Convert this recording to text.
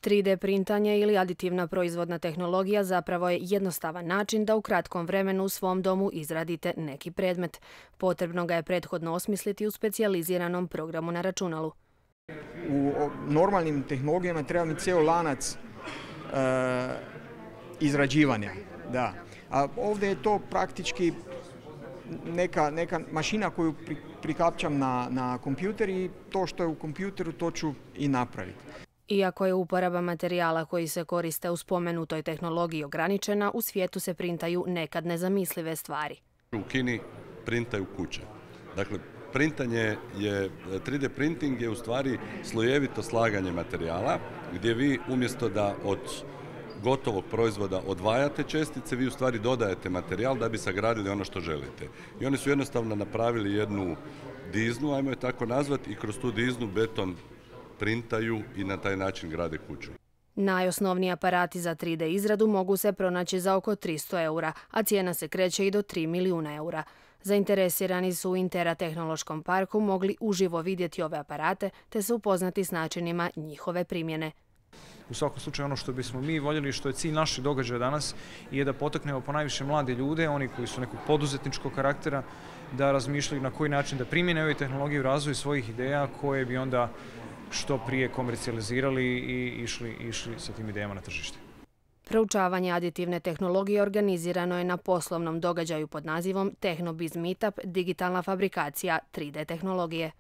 3D printanje ili aditivna proizvodna tehnologija zapravo je jednostavan način da u kratkom vremenu u svom domu izradite neki predmet. Potrebno ga je prethodno osmisliti u specijaliziranom programu na računalu. U normalnim tehnologijama treba mi cijel lanac izrađivanja. Da. A ovdje je to praktički neka mašina koju prikapčam na kompjuter i to što je u kompjuteru to ću i napraviti. Iako je uporaba materijala koji se koriste u spomenutoj tehnologiji ograničena, u svijetu se printaju nekad nezamislive stvari. U Kini printaju kuće. Dakle, printanje je, 3D printing je u stvari slojevito slaganje materijala gdje vi umjesto da od gotovog proizvoda odvajate čestice, vi u stvari dodajete materijal da bi sagradili ono što želite. I oni su jednostavno napravili jednu diznu, ajmo je tako nazvati, i kroz tu diznu beton printaju i na taj način grade kuću. Najosnovniji aparati za 3D izradu mogu se pronaći za oko 300 eura, a cijena se kreće i do 3 milijuna eura. Zainteresirani su u Intera tehnološkom parku mogli uživo vidjeti ove aparate te se upoznati s načinima njihove primjene. U svakom slučaju ono što bismo mi voljeli, što je cilj naših događaja danas, je da potaknemo ponajviše mlade ljude, oni koji su nekog poduzetničkog karaktera, da razmišljaju na koji način da primjene ove tehnologije u razvoju svojih ideja koje bi onda što prije komercijalizirali i išli sa tim idejama na tržište. Proučavanje aditivne tehnologije organizirano je na poslovnom događaju pod nazivom TechnoBiz Meetup – digitalna fabrikacija 3D tehnologije.